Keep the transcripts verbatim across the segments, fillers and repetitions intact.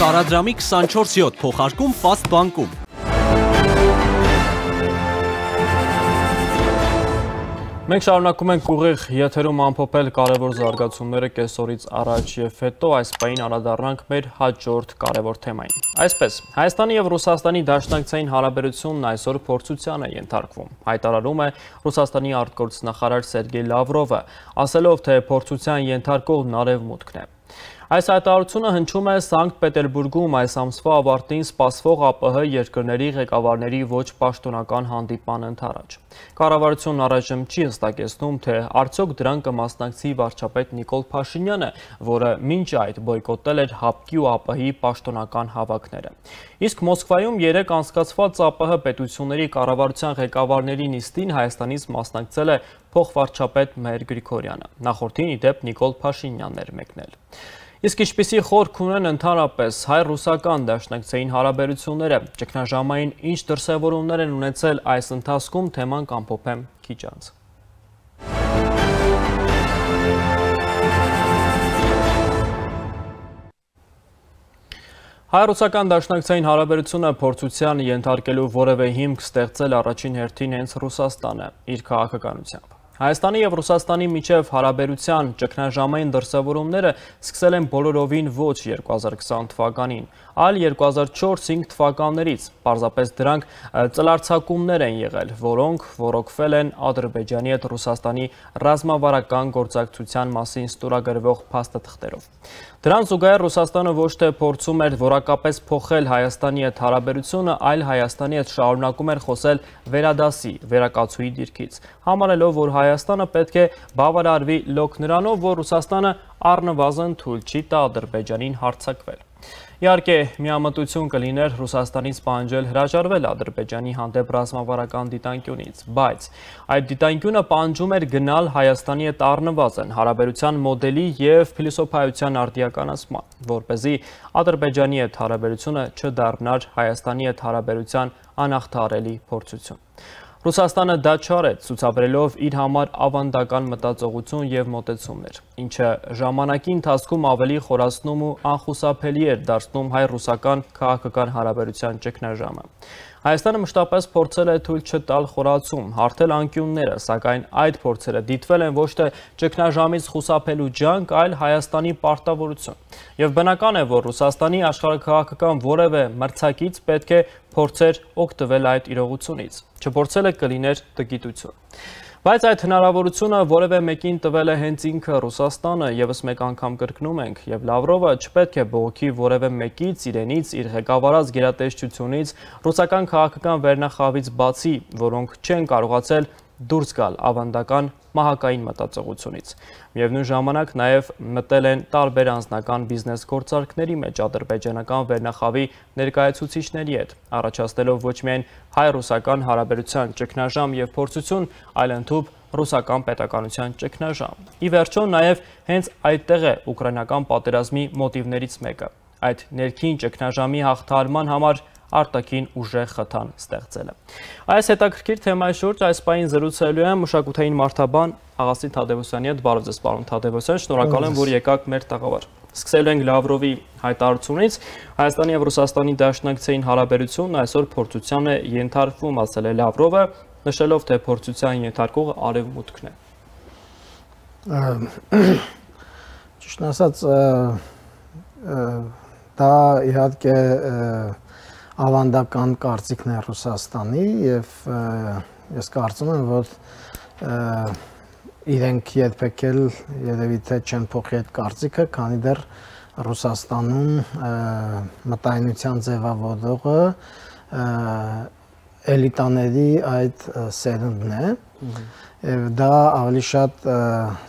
Տարադրամի քսանչորս յոթ փոխարկում Fast բանկում։ Մենք շարունակում ենք ուղիղ եթերում ամփոփել կարևոր զարգացումները կեսօրից առաջ եւ հետո այս պահին անդրադառնանք մեր հաջորդ կարևոր թեմային։ Այսպես, Հայաստանի եւ Ռուսաստանի դաշնակցային հարաբերությունն այսօր փորձության է ենթարկվում։ Հայտարարում է Ռուսաստանի արտգործնախարար Սերգեյ Լավրովը, ասելով, թե փորձության ենթարկողն արևմուտքն է։ Այս հայտարարությունը հնչում է Սանկտ Պետերբուրգում այս ամսվա ավարտին սպասվող ԱՊՀ երկրների ղեկավարների ոչ պաշտոնական հանդիպման ընթരാճ։ Կառավարությունն առայժմ չի հստակեցնում, թե արդյոք դրան կմասնակցի վարչապետ Նիկոլ Փաշինյանը, որը մինչ այդ բոյկոտել էր ՀԱՊԿ-ի ու ԱՊՀ-ի պաշտոնական հավաքները։ Իսկ Մոսկվայում երեկ անցկացված ԱՊՀ պետությունների կառավարության ղեկավարների նիստին Հայաստանից մասնակցել է փոխվարչապետ Մհեր Գրիգորյանը։ Նախորդին ի դեպ Նիկոլ Փաշինյանն էր մեկնել։ Իսկ ինչպիսի խորք ունեն ընդհանրապես հայ-ռուսական դաշնակցային հարաբերությունները, ճգնաժամային ինչ դրսևորումներ են ունեցել այս ընթացքում, թեման կամփոփեմ քիչ անց։ Հայ-ռուսական դաշնակցային հարաբերությունը փորձության ենթարկելու որևէ հիմք ստեղծել առաջին հերթին հենց Ռուսաստանը իր քաղաքականությամբ։ Հայաստանի եւ Ռուսաստանի միջև հարաբերության ճգնաժամային դրսևորումները սկսել են բոլորովին ոչ երկու հազար քսան թվականին, այլ երկու հազար չորս հինգ թվականներից, պարզապես դրանք ծլարձակումներ են եղել, որոնք ոռոգվել են Ադրբեջանի հետ Ռուսաստանի ռազմավարական գործակցության մասին ստորագրվող փաստաթղթերով։ Դրան զուգահեռ Ռուսաստանը ոչ թե փորձում էր որակապես փոխել Հայաստանի հետ հարաբերությունը, այլ Հայաստանի հետ շարունակում էր խոսել վերադասի, վերակացուի դիրքից, համարելով, որ Հայաստանը պետք է բավարարվի լոկ նրանով, որ Ռուսաստանը առնվազն թույլ չի տա Ադրբեջանին հարձակվել։ Իհարկե, միամտություն կլիներ Ռուսաստանից պահանջել հրաժարվել Ադրբեջանի հանդեպ ռազմավարական դիտանկյունից, բայց այդ դիտանկյունը պահանջում էր գնալ Հայաստանի հետ առնվազն հարաբերության մոդելի եւ փիլիսոփայության արդիականացման, որպեսզի Ադրբեջանի հետ հարաբերությունը չդառնար Հայաստանի հետ հարաբերության անհաղթահարելի փորձություն։ Ռուսաստանը դա չարեց, ցուցաբերելով իր համար ավանդական մտածողություն եւ մոտեցումներ, ինչը ժամանակի ընթացքում ավելի խորացնում ու անխուսափելի էր դարձնում հայ-ռուսական քաղաքական հարաբերության ճգնաժամը։ Հայաստանը մշտապես փորձել է թույլ չտալ խորացում, հարթել անկյունները, սակայն այդ փորձերը դիտվել են ոչ թե ճգնաժամից խուսափելու ջանք, այլ Հայաստանի պարտավորություն։ Եվ բնական է, որ Ռուսաստանի աշխարհաքաղաքական որևէ մրցակից պետք է փորձեր օգտվել այդ իրողությունից, չփորձելը կլիներ տգիտություն։ Բայց այդ հնարավորությունը որևէ մեկին տվել է հենց ինքը Ռուսաստանը, եւս մեկ անգամ կրկնում ենք, եւ Լավրովը չպետք է բողոքի որևէ մեկից, իրենից, իր ղեկավարած գերատեսչությունից, ռուսական քաղաքական վերնախավից բացի, որոնք չեն կարողացել դուրս գալ ավանդական մահակային մտածողությունից։ Միևնույն ժամանակ նաև մտել են տարբեր անձնական բիզնես գործարքների մեջ ադրբեջանական վերնախավի ներկայացուցիչների հետ, առաջացնելով ոչ միայն հայ-ռուսական հարաբերության ճգնաժամ եւ փորձություն, այլ ընդհանուր ռուսական պետականության ճգնաժամ։ Ի վերջո նաև հենց այդտեղ է ուկրաինական պատերազմի մոտիվներից մեկը։ Այդ ներքին ճգնաժամի հաղթահարման համար արտաքին ուժեղ խթան ստեղծելը։ Այս հետաքրքիր թեմայի շուրջ այս պահին զրուցելու եմ մշակութային մարդաբան Աղասին Թադևոսյանի հետ։ Բարև ձեզ, պարոն Թադևոսյան, շնորհակալ եմ, որ եկաք մեր տաղավար։ Սկսելու ենք Լավրովի հայտարարությունից։ Հայաստանի եւ Ռուսաստանի դաշնակցային հարաբերությունն այսօր փորձության է ենթարկվում, ասել է Լավրովը, նշելով, թե փորձության ենթարկողը արևմուտքն է։ Ճիշտ ասած, դա իհարկե ավանդական կարծիքն է Ռուսաստանի եւ ես կարծում եմ, որ իրենք երբեք էլ երևի թե չեն փոխի այդ կարծիքը, քանի դեռ Ռուսաստանում մտայնության ձևավորողը էլիտաների այդ սերունդն է եւ դա ավելի շատ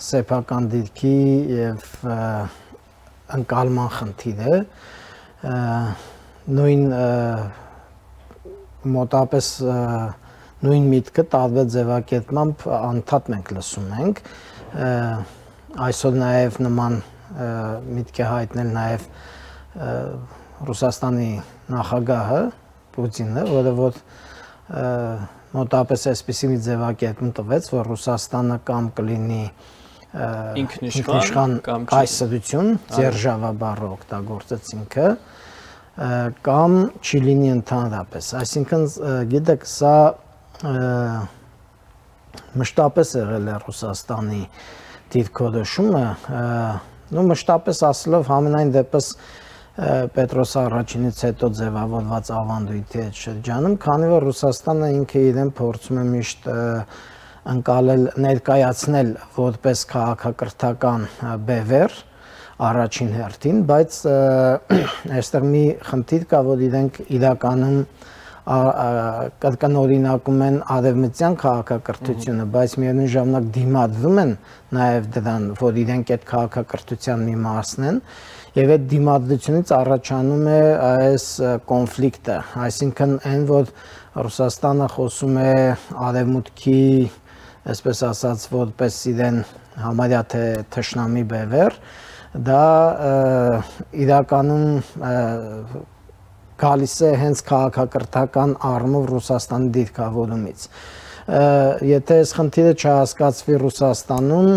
սեփական դիրքի եւ ընկալման խնդիր է, նույն մոտապես նույն միտքը տարբեր ձևակերպմամբ անդադ մենք լսում ենք, այսօր նաև նման միտք է հայտնել նաև Ռուսաստանի նախագահը Պուտինը, որը որ մոտապես այսպիսի մի ձևակերպում տվեց, որ Ռուսաստանը կամ կլինի ինքնիշխան կայսրություն, ձերժավա բառը օգտագործեց ինքը, կամ չի լինի ընդհանրապես։ Այսինքն գիտեք, սա մշտապես եղել է Ռուսաստանի դիրքորոշումը, նո մշտապես ասելով համենայն դեպս Պետրոս առաջինից հետո ձևավորված ավանդույթի այդ շրջանում, քանի որ Ռուսաստանը ինքը իրեն փորձում է միշտ ընկալել, ներկայացնել որպես քաղաքակրթական բևեռ առաջին հերթին, բայց այստեղ մի խնդիր կա, որ իրենք իրականում կրկնօրինակում են արևմտյան քաղաքակրթությունը, բայց միևնույն ժամանակ դիմադրում են նաև դրան, որ իրենք այդ քաղաքակրթության մի մասն են, եւ այդ դիմադրությունից առաջանում է այս կոնֆլիկտը, այսինքն այն, որ Ռուսաստանը խոսում է արևմուտքի, այսպես ասած, որպես իրեն համարյա թե թշնամի բևեռ, դա իրականում գալիս է հենց քաղաքակրթական առումով Ռուսաստանի դիրքավորումից։ Եթե այս խնդիրը չհասկացվի Ռուսաստանում,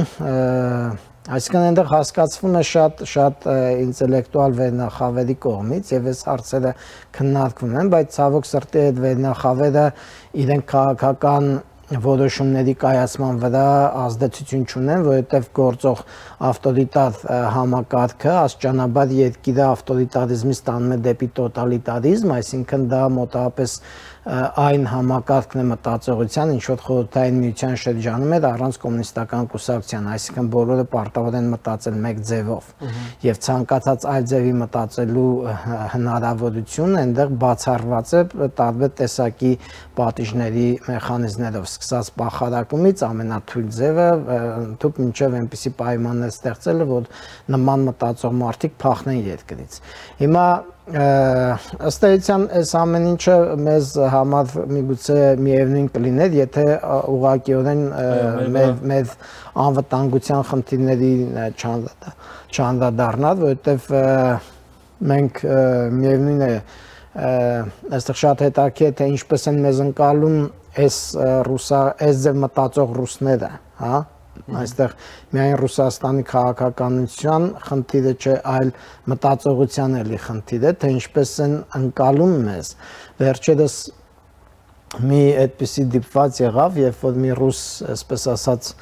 այսինքն այնտեղ հասկացվում է շատ շատ ինտելեկտուալ վերնախավերի կողմից եւ այս հարցերը քննարկվում են, բայց ցավոք սրտի այդ վերնախավերը իրենք քաղաքական որոշումների կայացման վրա ազդեցություն չունեն, որովհետև գործող ավտորիտար համակարգը աստիճանաբար երկիրը ավտորիտարիզմից տանում է դեպի տոտալիտարիզմ, այսինքն դա մոտավորապես այն համակարգն է մտածողության, ինչ որ խորհրդային միության շրջանում էր առանց կոմունիստական կուսակցության, այսինքն բոլորը պարտավոր են մտածել մեկ ձևով եւ ցանկացած այլ ձևի մտածելու հնարավորություն այնտեղ բացառված է տարբեր տեսակի պատիժների մեխանիզմներով, սկսած բախարակումից ամենաթույլ ձևը ընդհանուր մինչև այնպիսի պայմաններ ստեղծելը, որ նման մտածող մարդիկ փախնեն երկրից։ Հիմա ըստ էության այս ամեն ինչը մեզ համար միգուցե միևնույն կլիներ, եթե ուղղակիորեն մեր անվտանգության խնդիրների չանդրադառնար, որովհետև մենք միևնույն է այստեղ շատ հետաքրքիր է, թե ինչպես են մեզ ընկալում այս ռուսա այս ձև մտածող ռուսները, հա, այստեղ միայն Ռուսաստանի քաղաքականության խնդիրը չէ, այլ մտածողության էլի խնդիր է, թե ինչպես են ընկալում մեզ։ Վերջերս մի այդպիսի դիպված եղավ, երբ որ մի ռուս, այսպես ասած,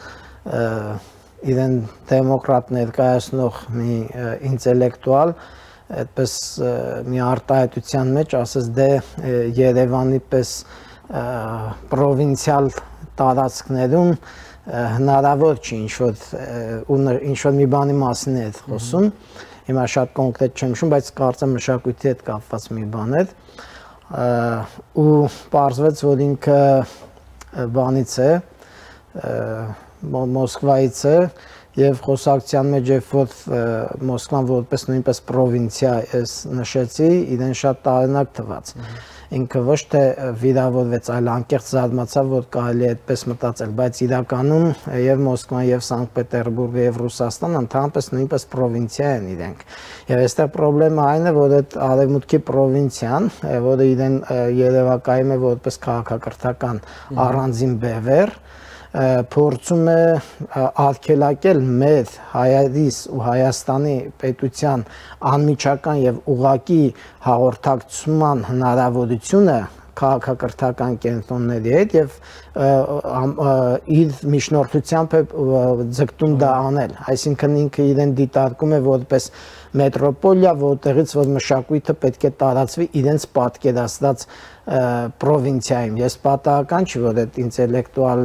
իրեն դեմոկրատ ներկայացնող մի ինտելեկտուալ, այդպես մի արտահայտության մեջ ասեց, դե Երևանի պես պրովինցիալ տարածքներում հնարավոր չի ինչ-որ մի բանի մասին է խոսում, հիմա շատ կոնկրետ չեմ հիշում, բայց կարծեմ մշակույթի հետ կապված մի բան է, ու պարզվեց, որ ինքը բանից է, Մոսկվայից է, եւ խոսակցության մեջ երբ որ Մոսկվան որպես նույնպես պրովինցիա ես նշեցի, իրեն շատ տարօրինակ թվաց։ Ինքը ոչ թե վիրավորվեց, այլ անկեղծ զարմացավ, որ կարելի է այդպես մտածել, բայց իրականում եւ Մոսկվան եւ Սանկտ Պետերբուրգը եւ Ռուսաստանը ընդհանրապես նույնպես պրովինցիա են իրենք։ Եվ այստեղ խնդրեմը այն է, որ այդ արևմուտքի պրովինցիան, որը իրեն երևակայում է որպես քաղաքակրթական առանձին բևեռ, փորձում է արգելակել մեր հայերիս ու Հայաստանի պետության անմիջական եւ ուղղակի հաղորդակցման հնարավորությունը քաղաքակրթական կենտրոնների հետ եւ իր միջնորդությամբ է ձգտում դա անել, այսինքն ինքը իրեն դիտարկում է որպես մետրոպոլիա, որտեղից որ մշակույթը պետք է տարածվի իրենց պատկերացրած պրովինցիայում։ Ես պատահական չի, որ այդ ինտելեկտուալ,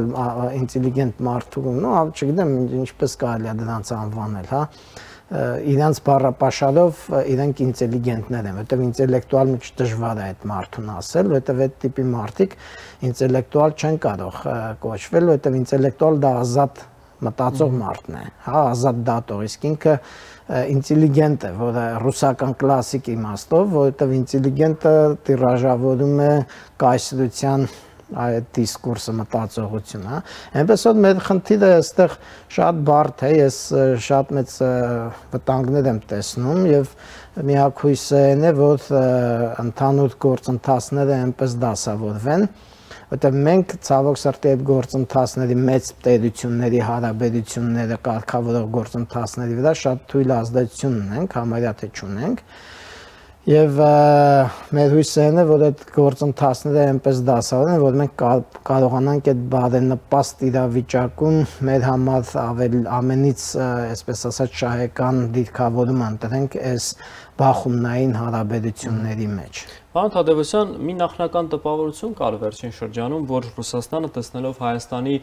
ինտելիգենտ մարդու, նո, չգիտեմ ինչպես կարելի է դրանց անվանել, հա, իրանց բառապաշարով իրենք ինտելիգենտներ են, որտեղ ինտելեկտուալ մի դժվար է այդ մարդուն ասել, որտեղ այդ տիպի մարդիկ ինտելեկտուալ չեն կարող կոչվել, որտեղ ինտելեկտուալ դա ազատ մտածող մարդն է, հա, ազատ դատող, իսկ ինքը ինտելիգենտ է, որը ռուսական կլասիկ իմաստով, որովհետև ինտելիգենտը տիրաժավորում է կայսրության այդ դիսկուրսը մտածողություն, հա։ Այնպես որ մեր խնդիրը այստեղ շատ բարդ է, ես շատ մեծ վտանգներ եմ տեսնում եւ միակույս այն է, որ ընդհանուր գործընթացները այնպես դասավորվեն, որտեղ մենք ցավոք սրտի այդ գործընթացների մեծ տերությունների հարաբերությունները կարգավորող գործընթացների վրա շատ թույլ ազդեցություն ունենք, համարյա թե չունենք, Եվ մեր հույսերն է, որ այդ գործընթացները այնպես դասավորեն, որ մենք կարողանանք այդ բարենպաստ իրավիճակում մեր համար ավելի ամենից, այսպես ասած, շահեկան դիրքավորում ընտրենք այս բախումնային հարաբերությունների մեջ։ Պարոն Թադևոսյան, մի նախնական տպավորություն կար վերջին շրջանում, որ Ռուսաստանը տեսնելով Հայաստանի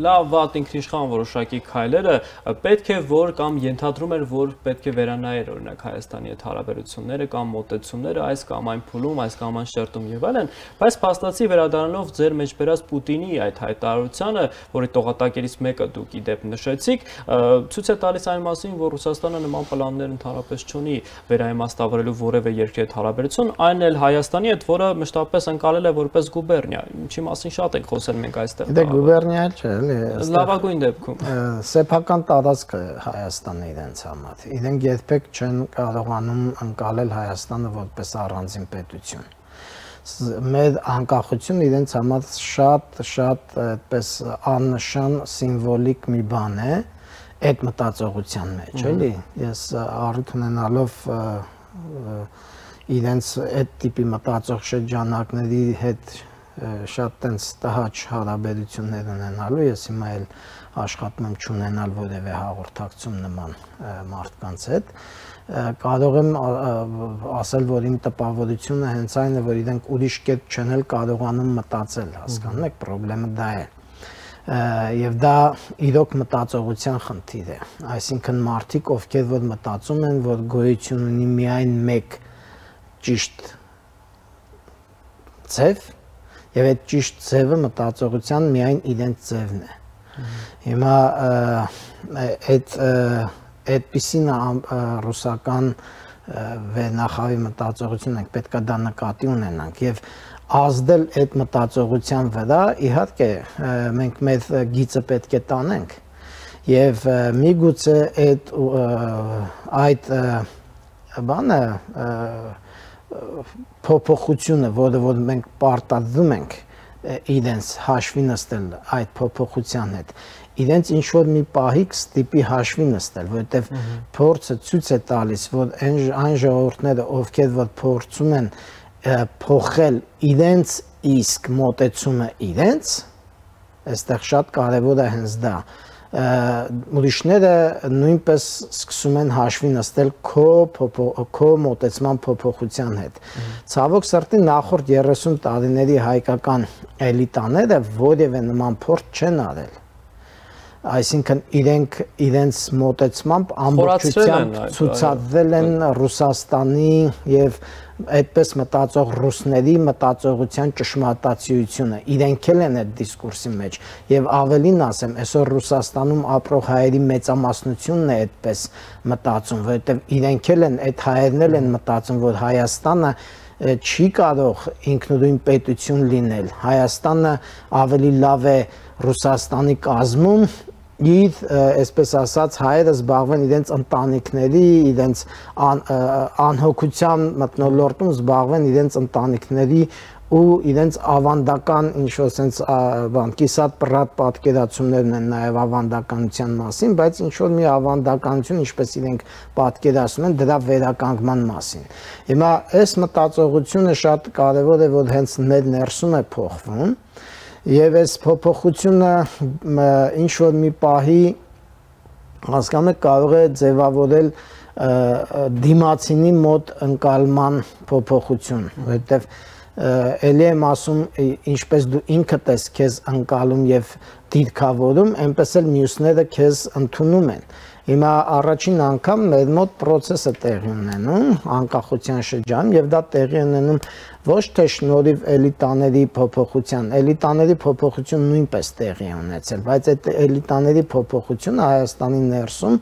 լավ վատ ինքնիշխան որոշակի քայլերը, պետք է որ կամ ենթադրում էր, որ պետք է վերանայեր օրինակ Հայաստանի հետ հարաբերությունները կամ մոտեցումները այս կամ այն փուլում, այս կամ այն շերտում եւ այլն, բայց փաստացի վերադառնալով ձեր մեջ բերած Պուտինի այդ հայտարարությանը, որի տողատակերից մեկը դուք ի դեպ նշեցիք, ցույց է տալիս այն մասին, որ Ռուսաստանը նման պլաններ ընդհանրապես չունի վերաիմաստավորելու որևէ երկրի հետ հարաբերություն, այն էլ Հայաստանի հետ, որը մշտապես ընկալել է որպես գուբերնիա, ինչի մասին շատ ենք խոսել մենք այստեղ։ Դե գուբերնիա չէ, էլի։ Լավագույն դեպքում։ Սեփական տարածք է Հայաստանը իրենց համար։ Իրենք երբեք չեն կարողանում ընկալել Հայաստանը որպես առանձին պետություն։ Մեր անկախությունը իրենց համար շատ շատ այդպես աննշան սիմվոլիկ մի բան է այդ մտածողության մեջ, էլի։ Ես առիթ ունենալով իրենց այդ տիպի մտածող շրջանակների հետ շատ տենց տհաճ հարաբերություններ ունենալու, ես հիմա էլ աշխատում եմ չունենալ որևէ հաղորդակցում նման մարդկանց հետ, կարող եմ ասել, որ իմ տպավորությունը հենց այն է, որ իրենք ուրիշ կերպ չեն էլ կարողանում մտածել, հասկանում եք, պրոբլեմը դա է։ Եվ դա իրոք մտածողության խնդիր է, այսինքն մարդիկ, ովքեր որ մտածում են, որ գոյություն ունի միայն մեկ ճիշտ ձև, եւ այդ ճիշտ ձևը մտածողության միայն իրենց ձևն է։ Հիմա այդ այդպիսին ռուսական վերնախավի մտածողություն ենք, պետք է դա նկատի ունենանք եւ ազդել այդ մտածողության վրա, իհարկե մենք մեր գիծը պետք է տանենք եւ միգուցե այդ այդ բանը փոփոխությունը, որը որ մենք պարտադրում ենք իրենց հաշվի նստել այդ փոփոխության հետ, իրենց ինչ որ մի պահի կստիպի հաշվի նստել, որովհետեւ փորձը ցույց է տալիս, որ այն ժողովուրդները, ովքեր որ փորձում են փոխել իրենց իսկ մոտեցումը իրենց, այստեղ շատ կարևոր է հենց դա, ուրիշները նույնպես սկսում են հաշվի նստել քո քո մոտեցման փոփոխության հետ։ Ցավոք սրտի նախորդ երեսուն տարիների հայկական էլիտաները որևէ նման փորձ չեն արել։ Այսինքն իրենք իրենց մոտեցմամբ ամբողջությամբ ցուցադրել են Ռուսաստանի եւ այդպես մտածող ռուսների մտածողության ճշմարտացիությունը, իրենք էլ են այդ դիսկուրսի մեջ եւ ավելին ասեմ, այսօր Ռուսաստանում ապրող հայերի մեծամասնությունն է այդպես մտածում, որովհետեւ իրենք էլ են այդ հայերն էլ են մտածում, որ Հայաստանը չի կարող ինքնուրույն պետություն լինել, Հայաստանը ավելի լավ է Ռուսաստանի կազմում, իր, այսպես ասած, հայերը զբաղվեն իրենց ընտանիքների, իրենց անհոգության մթնոլորտում զբաղվեն իրենց ընտանիքների ու իրենց ավանդական ինչ-որ sense բան կիսատ պրատ պատկերացումներ ունեն նաև ավանդականության մասին, բայց ինչ-որ մի ավանդականություն, ինչպես իրենք պատկերացնում են, դրա վերականգնման մասին։ Հիմա այս մտածողությունը շատ կարևոր է, որ հենց մեր ներսում է փոխվում։ Եվ այս փոփոխությունը ինչ որ մի պահի հասկանում եք կարող է ձևավորել դիմացինի մոտ ընկալման փոփոխություն, որովհետև ելի եմ ասում, ինչպես դու ինքդ ես քեզ ընկալում եւ դիրքավորում, այնպես էլ մյուսները քեզ ընդունում են։ Հիմա առաջին անգամ մեր մոտ process-ը տեղի ունենում անկախության շրջանում եւ դա տեղի ունենում ոչ թե շնորհիվ էլիտաների փոփոխության, էլիտաների փոփոխություն նույնպես տեղի ունեցել, բայց այդ էլիտաների փոփոխությունը Հայաստանի ներսում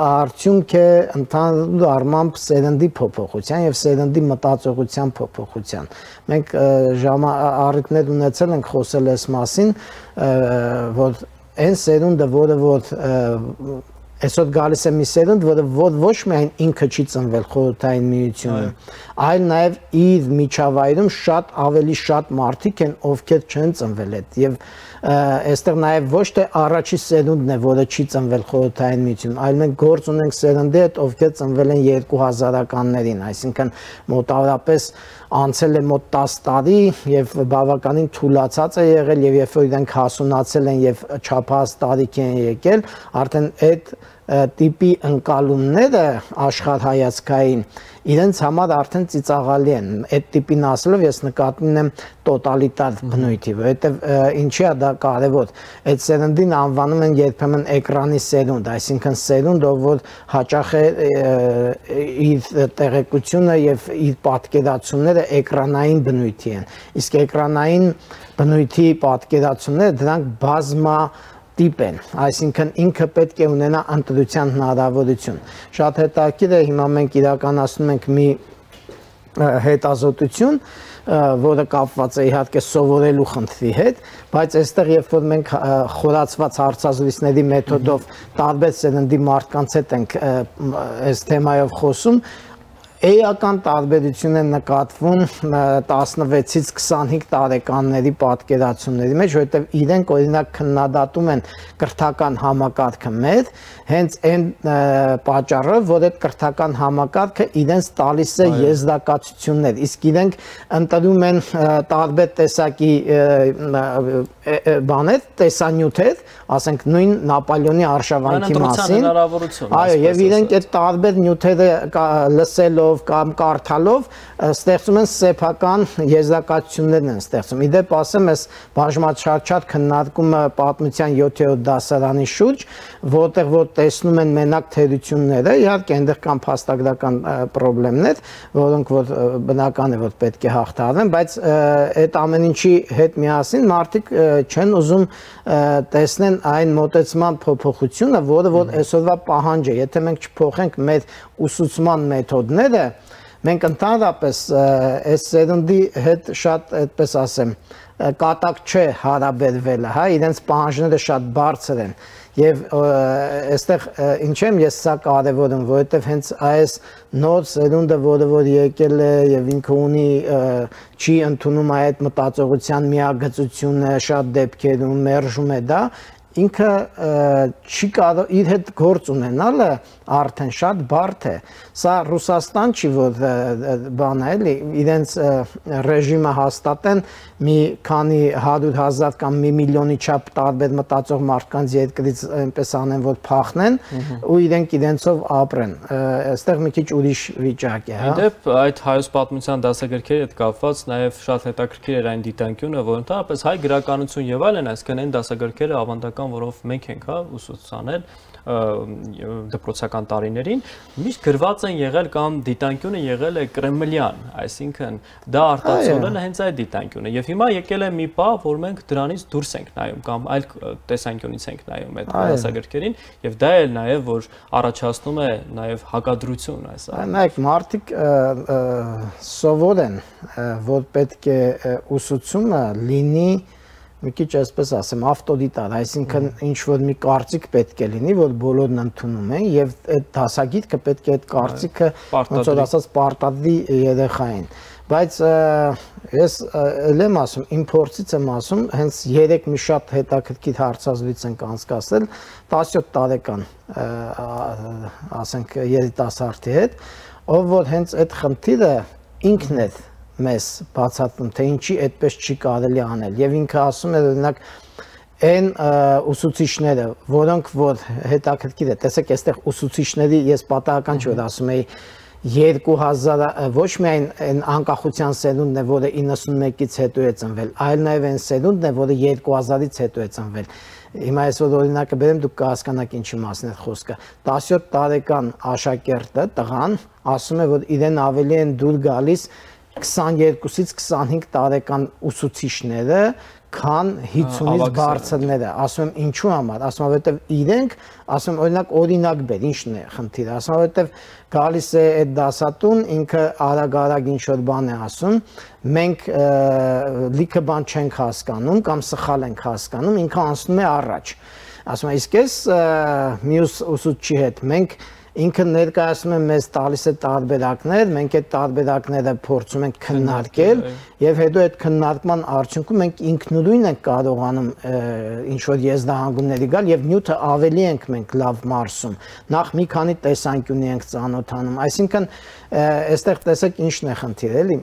արդյունք է ընդհանուր առմամբ սերնդի փոփոխության եւ սերնդի մտածողության փոփոխության։ Մենք առիթներ ունեցել ենք խոսել այս մասին, որ այն սերունդը, որը որ Այսօր գալիս է մի սերունդ, որը ոչ միայն ինքը չի ծնվել խորհրդային միությունում, այլ նաև իր միջավայրում շատ ավելի շատ մարդիկ են, ովքեր չեն ծնվել այդ եւ այստեղ նաև ոչ թե առաջի սերունդն է, որը չի ծնվել խորհրդային միությունում, այլ մենք գործ ունենք սերնդի հետ, ովքեր ծնվել են երկու հազարականներին, այսինքն մոտավորապես անցել է մոտ տասը տարի եւ բավականին թուլացած է եղել եւ երբ որ իրենք հասունացել են եւ չափահաս տարիք են եկել, արդեն այդ տիպի ընկալումները աշխարհայացքային իրենց համար արդեն ծիծաղալի են։ Այդ տիպին ասելով ես նկատի ունեմ տոտալիտար բնույթի, որովհետև ինչի է դա կարևոր։ Այդ սերնդին անվանում են երբեմն էկրանի սերունդ, այսինքն սերունդ, ով որ հաճախ է իր տեղեկությունը եւ իր պատկերացումները էկրանային բնույթի են։ Իսկ էկրանային բնույթի պատկերացումները դրանք բազմա տիպ են, այսինքն ինքը պետք է ունենա ընտրության հնարավորություն։ Շատ հետաքրքիր է, հիմա մենք իրականացնում ենք մի հետազոտություն, որը կապված է իհարկե սովորելու խնդրի հետ, բայց այստեղ երբ որ մենք խորացված հարցազրույցների մեթոդով տարբեր սերնդի մարդկանց հետ ենք այս թեմայով խոսում, էական տարբերություն են նկատվում տասնվեցից քսանհինգ տարեկանների պատկերացումների մեջ, որովհետև իրենք օրինակ քննադատում են կրթական համակարգը մեր, հենց այն պատճառով, որ այդ կրթական համակարգը իրենց տալիս է եզրակացություններ, իսկ իրենք ընտրում են տարբեր տեսակի բաներ, տեսանյութեր, ասենք նույն Նապոլեոնի արշավանքի մասին, այո, եւ իրենք այդ տարբեր նյութերը լսելով կամ կարդալով ստեղծում են սեփական եզրակացություններ են ստեղծում։ Իդեպ ասեմ, այս բաժնաչարչատ քննարկումը պատմության յոթերորդ դասարանի շուրջ, որտեղ որ տեսնում են մենակ թերությունները, իհարկե այնտեղ կան փաստագրական խնդիրներ, որոնք որ բնական է որ պետք է հաղթահարվեն, բայց այդ ամեն ինչի հետ միասին մարդիկ չեն ուզում տեսնեն այն մոտեցման փոփոխությունը, որը որ այսօրվա պահանջ է։ Եթե մենք չփոխենք մեր ուսուցման մեթոդները, մենք ընդհանրապես այս սերնդի հետ շատ, այդպես ասեմ, կատակ չէ հարաբերվելը, հա, իրենց պահանջները շատ բարձր են։ Եվ այստեղ ինչ եմ ես սա կարևորում, որովհետև հենց այս նոր սերունդը, որը որ եկել է եւ ինքը ունի չի ընդունում այդ մտածողության միագծությունը, շատ դեպքերում մերժում է դա, ինքը չի կարող իր հետ գործ ունենալը արդեն շատ բարդ է։ Սա Ռուսաստան չի, որ բան է, էլի, իրենց ռեժիմը հաստատեն մի քանի հարյուր հազար կամ մի միլիոնի չափ տարբեր մտածող մարդկանց երկրից այնպես անեն, որ փախնեն ու իրենք իրենցով ապրեն։ Այստեղ մի քիչ ուրիշ վիճակ է, հա։ Իդեպ այդ հայոց պատմության դասագրքերի հետ կապված նաև շատ հետաքրքիր էր այն դիտանկյունը, որ ընդհանրապես հայ գրականություն եւ այլն, այսինքն այն դասագրքերը ավանդական, որով մենք ենք, հա, ուսուցանել դպրոցական տարիներին, միշտ գրված են եղել կամ դիտանկյունը եղել է կրեմլյան, այսինքն դա արտացոլել է հենց այդ դիտանկյունը եւ հիմա եկել է մի պահ, որ մենք դրանից դուրս ենք նայում կամ այլ տեսանկյունից ենք նայում այդ դասագրքերին եւ դա էլ նաեւ որ առաջացնում է նաեւ հակադրություն այս այլ։ Նայեք, մարդիկ սովոր են, որ պետք է ուսուցումը լինի մի քիչ այսպես ասեմ, ավտորիտար, այսինքն ինչ որ մի կարծիք պետք է լինի, որ բոլորն ընդունում են եւ այդ դասագիրքը պետք է այդ կարծիքը ոնց որ ասած պարտադրի երեխային։ Բայց ես ել եմ ասում, իմ փորձից եմ ասում, հենց երեք մի շատ հետաքրքիր հարցազրույց ենք անցկացրել տասնյոթ տարեկան, ասենք երիտասարդի հետ, ով որ հենց այդ խնդիրը ինքն է մեզ բացատրում, թե ինչի այդպես չի կարելի անել եւ ինքը ասում է օրինակ այն ուսուցիչները, որոնք որ հետաքրքիր է, տեսեք, այստեղ ուսուցիչների ես պատահական չի որ ասում էի երկու հազար ոչ միայն այն անկախության սերունդն է, որը իննսունմեկից հետո է ծնվել, այլ նաեւ այն սերունդն է, որը երկու հազարից հետո է ծնվել։ Հիմա ես որ օրինակը բերեմ, դուք կհասկանաք ինչի մասն է խոսքը։ տասնյոթ տարեկան աշակերտը, տղան, ասում է, որ իրեն ավելի են դուր գալիս քսաներկուսից քսանհինգ տարեկան ուսուցիչները, քան հիցունից բարձրները, ասում եմ ինչու համար, ասում եմ որովհետև իրենք, ասում եմ օրինակ օրինակ բեր, ինչն է խնդիրը, ասում եմ որովհետև գալիս է այդ դասատուն, ինքը արագ-արագ ինչ-որ բան է ասում, մենք լիքը բան չենք հասկանում կամ սխալ ենք հասկանում, ինքը անցնում է առաջ։ ասում եմ, իսկ ես մյուս ուսուցչի հետ մենք ինքը ներկայացնում է մեզ տալիս է տարբերակներ, մենք այդ տարբերակները փորձում ենք քննարկել եւ հետո այդ քննարկման արդյունքում մենք ինքնուրույն ենք կարողանում ինչ որ եզրահանգումների գալ եւ նյութը ավելի ենք մենք լավ մարսում։ Նախ մի քանի տեսանկյունի ենք ծանոթանում, այսինքն այստեղ տեսեք ինչն է խնդիրը, էլի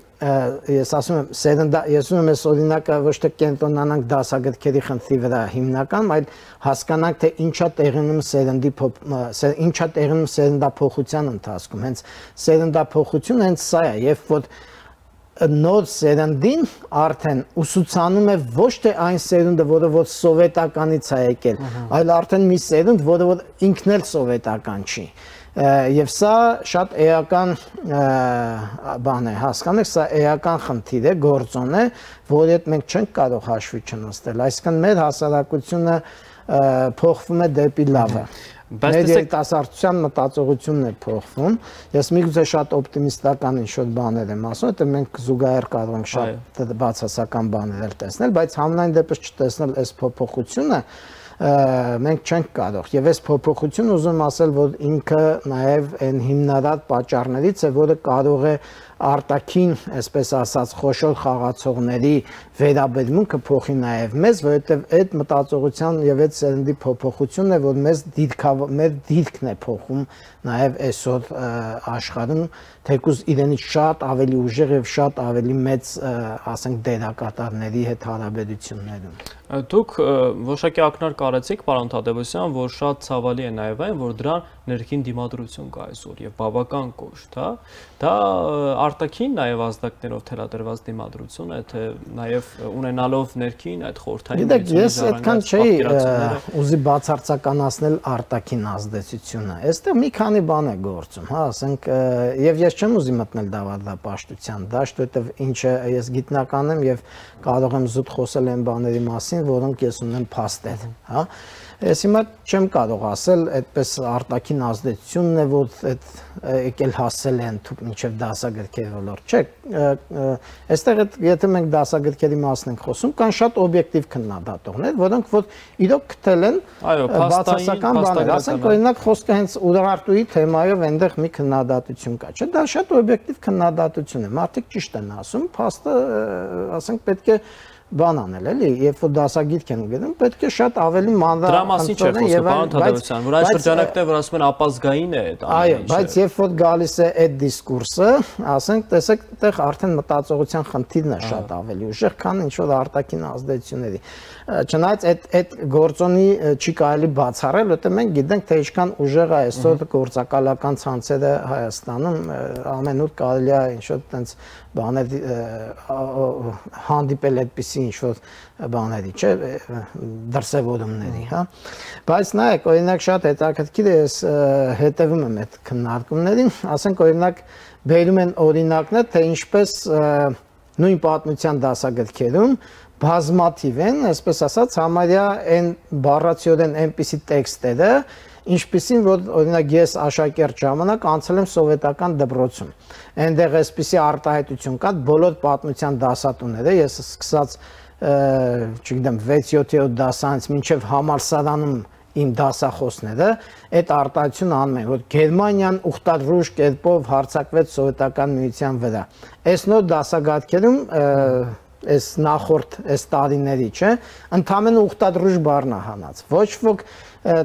ես ասում եմ սերնդա ես ուզում եմ այս օրինակը ոչ թե կենտրոնանանք դասագրքերի խնդրի վրա հիմնական, այլ հասկանանք թե ինչա տեղի ունենում սերնդի ինչա տեղի ունենում սերնդափոխության ընթացքում, հենց սերնդափոխությունը հենց սա է, երբ որ նոր սերնդին արդեն ուսուցանում է ոչ թե այն սերունդը, որը որ սովետականից է եկել, այլ արդեն մի սերունդ, որը որ ինքն էլ սովետական չի։ Եվ սա շատ էական բան է, հասկանեք, սա էական խնդիր է, գործոն է, որի հետ մենք չենք կարող հաշվի չնստել, այսինքն մեր հասարակությունը փոխվում է դեպի լավը։ Մեր երիտասարդության մտածողությունն է փոխվում։ Ես միգուցե շատ օպտիմիստական ինչ-որ բաներ եմ ասում, որտեղ մենք զուգահեռ կարող ենք շատ բացասական բաներ տեսնել, բայց համենայն դեպս չտեսնել այս փոփոխությունը մենք չենք կարող։ Եվ այս փոփոխությունը ուզում ասել, որ ինքը նաև այն հիմնարար պատճառներից է, որը կարող է արտաքին, այսպես ասած, խոշոր խաղացողների վերաբերմունքը փոխի նաև մեզ, որովհետև այդ մտածողության եւ այդ սերնդի փոփոխությունն է, որ մեզ դիրքավ մեր դիրքն է փոխում նաև այսօր աշխարհում, թեկուզ իրենից շատ ավելի ուժեղ եւ շատ ավելի մեծ, ասենք, դերակատարների հետ հարաբերություններում։ Դուք որոշակի ակնարկ արեցիք, պարոն Թադևոսյան, որ շատ ցավալի է նաև այն, որ դրան ներքին դիմադրություն կա այսօր եւ բավական կոշտ, հա։ Դա արտաքին նաև ազդակներով թելադրված դիմադրություն է, թե նաև ունենալով ներքին այդ խորհրդային միությունը։ Ես այդքան չէի ուզի բացարձականացնել արտաքին ազդեցությունը։ Այստեղ մի քանի բան է գործում, հա, ասենք, եւ ես չեմ ուզի մտնել դավադապաշտության դաշտ, որովհետեւ ինչը ես գիտնական եմ եւ կարող եմ զուտ խոսել այն բաների մասին, որոնք ես ունեմ փաստեր, հա։ Ես հիմա չեմ կարող ասել, այդպես արտաքին ազդեցությունն է, որ այդ եկել հասել են մինչև դասագրքերի ոլորտ։ Չէ, այստեղ եթե մենք դասագրքերի մասն ենք խոսում, կան շատ օբյեկտիվ քննադատողներ, որոնք որ իրոք գտել են բացասական բաներ, ասենք օրինակ խոսքը հենց Ուրարտուի թեմայով այնտեղ մի քննադատություն կա, չէ՞, դա շատ օբյեկտիվ քննադատություն է։ Մարդիկ ճիշտ են ասում, փաստը, ասենք, պետք է բան անել, էլի, երբ որ դասագիրք են գնում, պետք է շատ ավելի մանրամասն եւ այլն, որ այս շրջանակները, որ ասում են ապազգային է այդ ամենը։ Այո, բայց երբ որ գալիս է այդ դիսկուրսը, ասենք, տեսեք, այդտեղ արդեն մտածողության խնդիրն է շատ ավելի ուժեղ, քան ինչ որ արտաքին ազդեցությունների։ Չնայած այդ այդ գործոնի չի կարելի բացառել, որտեղ մենք գիտենք, թե ինչքան ուժեղ է այսօր գործակալական ցանցերը Հայաստանում, ամենուր կարելի է ինչ որ տենց բաներ հանդիպել այդպիսի ինչ-որ բաների, չէ, դրսևորումների, հա։ Բայց նայեք, օրինակ շատ հետաքրքիր է, ես հետևում եմ այդ քննարկումներին, ասենք օրինակ բերում են օրինակներ, թե ինչպես նույն պատմության դասագրքերում բազմաթիվ են, այսպես ասած, համարյա այն բառացիորեն այնպիսի տեքստերը, ինչպիսին, որ օրինակ ես աշակերտ ժամանակ անցել եմ սովետական դպրոցում։ Այնտեղ այսպիսի արտահայտություն կա, բոլոր պատմության դասատուները, ես սկսած, չգիտեմ, վեց-յոթերորդ դասանից մինչև համալսարանում իմ դասախոսները այդ արտահայտությունը անում են, որ Գերմանիան ուխտադրուժ կերպով հարձակվեց սովետական միության վրա։ Այս նոր դասագրքերում այս նախորդ այս տարիների, չէ, ընդհանրապես ուխտադրուժ բառն է հանած։ Ոչ ոք,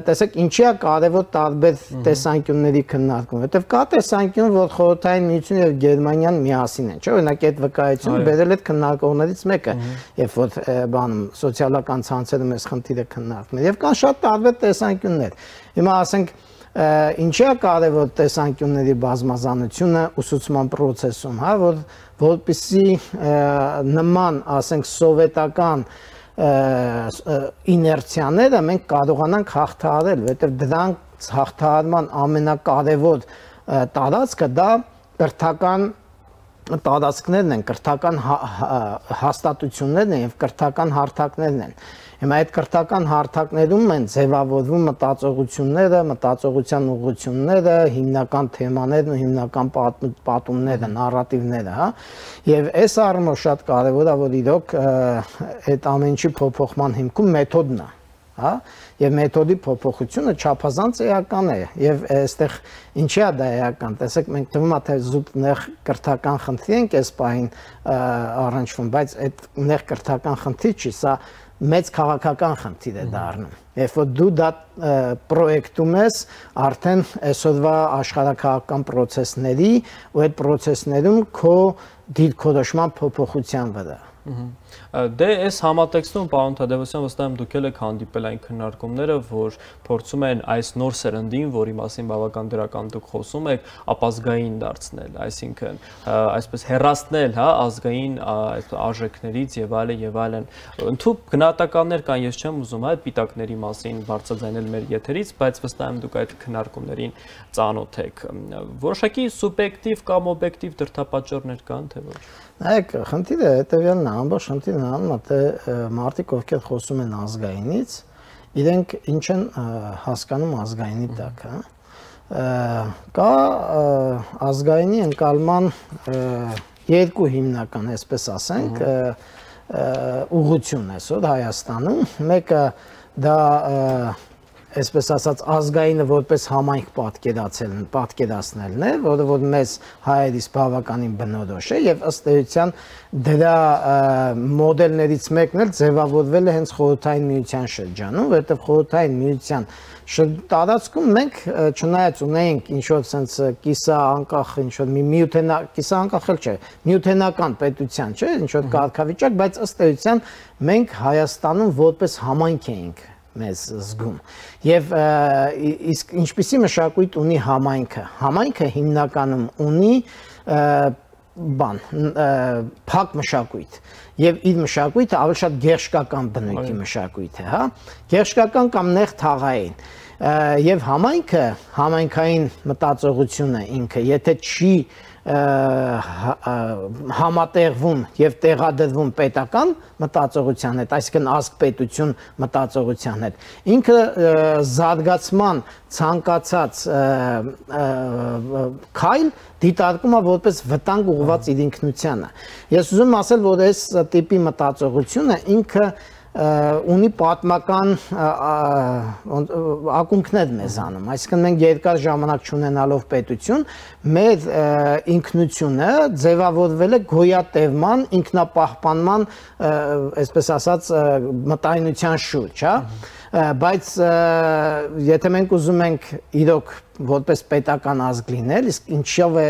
տեսեք, ինչի է կարևոր տարբեր տեսանկյունների քննարկում, որովհետև կա տեսանկյուն, որ խորհրդային միությունը եւ Գերմանիան միասին են, չէ՞, օրինակ այդ վկայությունը բերել այդ քննարկողներից մեկը, երբ որ բանում սոցիալական ցանցերում այս խնդիրը քննարկվում է, եւ կան շատ տարբեր տեսանկյուններ։ Հիմա ասենք ինչի է կարևոր տեսանկյունների բազմազանությունը ուսուցման process-ում, հա, որ որպեսզի նման, ասենք, սովետական իներցիաները մենք կարողանանք հաղթահարել, որովհետև դրանք հաղթահարման ամենակարևոր տարածքը դա կրթական տարածքներն են, կրթական հաստատություններն են եւ կրթական հարթակներն են։ Հիմա այդ կրթական հարթակներում են ձևավորվում մտածողությունները, մտածողության ուղղությունները, հիմնական թեմաներն ու հիմնական պատումները, նարատիվները, հա։ Եվ այս առումով շատ կարևոր է, որ իրոք այդ ամենի փոփոխման հիմքում մեթոդն է։ հա, եւ մեթոդի փոփոխությունը չափազանց էական է եւ այստեղ ինչի է դա էական, տեսեք մենք թվում է թե զուտ նեղ կրթական խնդիր ենք այս պահին առնչվում, բայց այդ նեղ կրթական խնդիր չի, սա մեծ քաղաքական խնդիր է դառնում։ Երբ որ դու դա պրոյեկտում ես արդեն այսօրվա աշխարհակաղակական process-ների ու այդ process-ներում քո դիրքորոշման փոփոխության վրա։ Դե այս համատեքստում պարոն Թադևոսյան վստահ եմ դուք եք հանդիպել այն քննարկումները, որ փորձում են այս նոր սերնդին, որի մասին բավական դրական դուք խոսում եք, ապազգային դարձնել, այսինքն այսպես հեռացնել, հա, ազգային արժեքներից եւ այլն եւ այլն։ Ընդհանուր գնահատականներ կան, ես չեմ ուզում այդ պիտակների մասին բարձրաձայնել մեր եթերից, բայց վստահ եմ դուք այդ քննարկումներին ծանոթ եք։ Որոշակի սուբյեկտիվ կամ օբյեկտիվ դրդապատճառներ կան, թե ոչ։ Նայեք, խնդիրը հետևյալն է, ամբողջ խնդիրն անում է, թե մարդիկ ովքեր խոսում են ազգայինից, իրենք ինչ են հասկանում ազգայինի տակ, հա։ Կա ազգայինի ընկալման երկու հիմնական, այսպես ասենք, ուղղություն այսօր Հայաստանում, մեկը դա այսպես ասած ազգայինը որպես համայնք պատկերացնելն, պատկերացնելն է, որը որ մեզ հայերիս բավականին բնորոշ է եւ ըստ էության դրա մոդելներից մեկն էլ ձևավորվել է հենց խորհրդային միության շրջանում, որովհետեւ խորհրդային միության տարածքում մենք չնայած ունեինք ինչ որ sense կիսա անկախ ինչ որ մի միութենա կիսա անկախ էլ չէ, միութենական պետության, չէ, ինչ որ կարգավիճակ, բայց ըստ էության մենք Հայաստանում որպես համայնք էինք մեզ զգում եւ իսկ ինչպիսի մշակույթ ունի համայնքը համայնքը հիմնականում ունի բան փակ մշակույթ եւ իր մշակույթը ավելի շատ գերշկական բնույթի մշակույթ է, հա, գերշկական կամ նեղ թաղային եւ համայնքը համայնքային մտածողությունը ինքը եթե չի համատեղվում եւ տեղադրվում պետական մտածողության հետ, այսինքն ազգ պետություն մտածողության հետ, ինքը զարգացման ցանկացած քայլ դիտարկում է որպես վտանգ ուղղված իր ինքնությանը։ Ես ուզում եմ ասել, որ այս տիպի մտածողությունը ինքը ունի պատմական ակունքներ մեզանում, այսինքն մենք երկար ժամանակ չունենալով պետություն, մեր ինքնությունը ձևավորվել է գոյատևման, ինքնապահպանման, այսպես ասած, մտայնության շուրջ, հա, բայց եթե մենք ուզում ենք իրոք որպես պետական ազգ լինել, իսկ ինչով է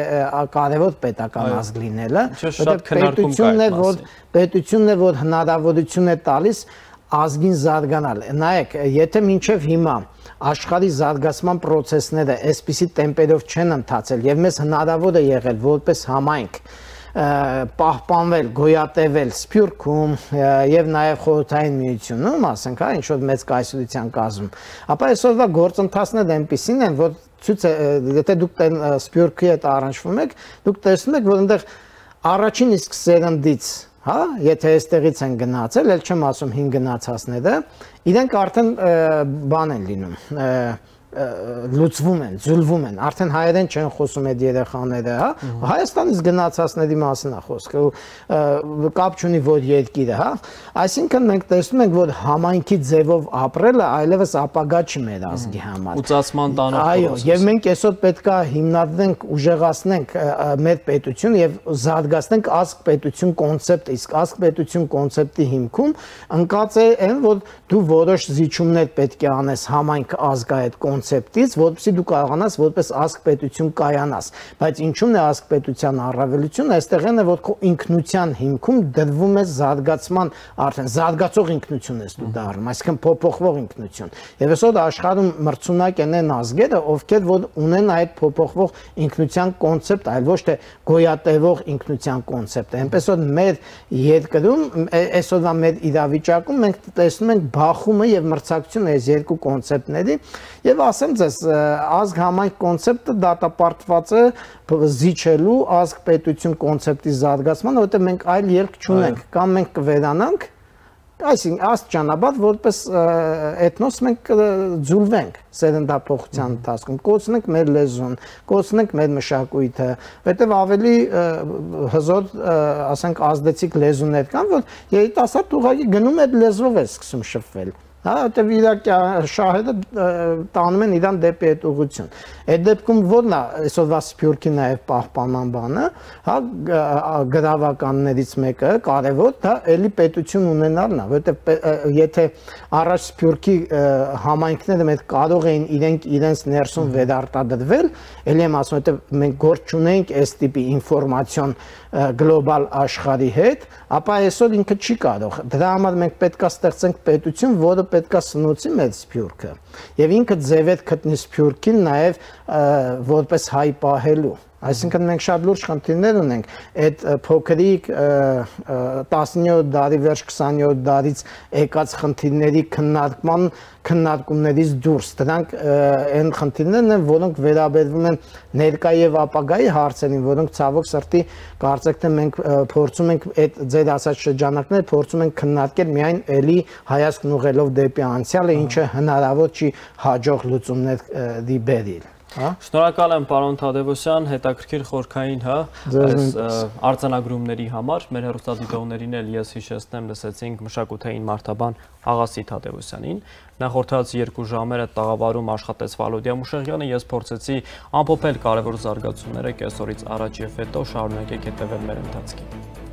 կարևոր պետական ազգ լինելը, պետությունն է, որ պետությունն է, որ հնարավորություն է տալիս ազգին զարգանալ։ Նայեք, եթե մինչև հիմա աշխարհի զարգացման process-ները այսպիսի տեմպերով չեն ընթացել եւ մեզ հնարավոր է եղել որպես համայնք պահպանվել, գոյատևել Սփյուռքում եւ նաեւ խորհրդային միությունում, ասենք, հա, ինչ որ մեծ կայսրության կազմում, ապա այսօրվա գործընթացները այնպիսին են, որ ցույց է, եթե դուք Սփյուռքի հետ առնչվում եք, դուք տեսնում եք, որ այնտեղ առաջին իսկ սերնդից, հա, եթե այստեղից են գնացել, ել չեմ ասում հին գնացածները, իրենք արդեն բան են լինում, լուծվում են, ձուլվում են, արդեն հայերեն չեն խոսում այդ երեխաները, հա, Հայաստանից գնացածների մասին է խոսքը, կապ չունի որ երկիրը, հա, այսինքն մենք տեսնում ենք, որ համայնքի ձևով ապրելը այլևս ապագա չի մեր ազգի համար։ Ուծացման տանող այո, եւ մենք այսօր պետք է հիմնադրենք, ուժեղացնենք մեր պետությունը եւ զարգացնենք ազգ պետություն կոնցեպտը, իսկ ազգ պետություն կոնցեպտի հիմքում ընկած է այն, որ դու որոշ զիջումներ պետք է անես համայնք ազգա այդ կոնցեպտից, որպեսզի դու կարողանաս որպես ազգ պետություն կայանաս, բայց ինչու՞մն է ազգ պետության առավելությունը, այստեղ այն է, որ քո ինքնության հիմքում դրվում է զարգացման, արդեն զարգացող ինքնություն ես դու դառնում, այսինքն փոփոխվող ինքնություն։ Եվ այսօր աշխարհում մրցունակ են այն ազգերը, ովքեր որ ունեն այդ փոփոխվող ինքնության կոնցեպտ, այլ ոչ թե գոյատևող ինքնության կոնցեպտ։ Այնպես որ մեր երկրում, այսօրվա մեր իրավիճակում մենք տեսնում ենք բախումը եւ մրցակցությունը այս երկու կոնցեպտների եւ ասեմ ձեզ, ազգ համայնք կոնցեպտը դատապարտված է զիջելու ազգ պետություն կոնցեպտի զարգացման, որովհետեւ մենք այլ ելք չունենք, կամ մենք կվերանանք, այսինքն աստիճանաբար որպես էթնոս մենք ձուլվենք սերնդափոխության ընթացքում, կորցնենք մեր լեզուն, կորցնենք մեր մշակույթը, որտեղ ավելի հզոր, ասենք, ազդեցիկ լեզուներ կան, որ երիտասարդ ուղղակի գնում այդ լեզվով է սկսում շփվել։ հա, որտեղ իր շահերը տանում են իրան դեպի այդ ուղղություն։ Այդ դեպքում ո՞րն է այսօրվա Սփյուռքի նաև պահպանման բանը, հա, գրավականներից մեկը կարևոր, դա էլի պետություն ունենալն է, որտեղ եթե առաջ Սփյուռքի համայնքները մենք կարող էին իրենք իրենց ներսում վերարտադրվել, էլի եմ ասում, որտեղ մենք գործ չունենք այս տիպի ինֆորմացիոն գլոբալ աշխարհի հետ, ապա այսօր ինքը չի կարող։ Դրա համար մենք պետք է ստեղծենք պետություն, որը պետք է սնուցի մեր Սփյուռքը, եւ ինքը ձևեր գտնի Սփյուռքին նաև որպես հայ պահելու։ Այսինքն մենք շատ լուրջ խնդիրներ ունենք այդ փոքրիկ տասնյոթ դարի վերջ քսաներորդ դարից եկած խնդիրների քննարկման քննարկումներից դուրս։ Դրանք այն խնդիրներն են, որոնք վերաբերվում են ներկա եւ ապագայի հարցերին, որոնք ցավոք սրտի կարծեք թե մենք փորձում ենք այդ ձեր ասած շրջանակները փորձում ենք քննարկել միայն էլի հայացքն ուղղելով դեպի անցյալը, ինչը հնարավոր չի հաջող լուծումների բերել։ Շնորհակալ եմ պարոն Թադևոսյան, հետաքրքիր խորքային, հա, այս արձանագրումների համար։ Մեր հեռուստադիտողներին էլ ես հիշեցնեմ, լսեցինք մշակութային մարդաբան Աղասի Թադևոսյանին։ Նախորդած երկու ժամերը տաղավարում աշխատեց Վալոդիա Մուշեղյանը, ես փորձեցի ամփոփել կարևոր զարգացումները կեսօրից առաջ եւ հետո, շարունակեք հետևել մեր ընթացքին։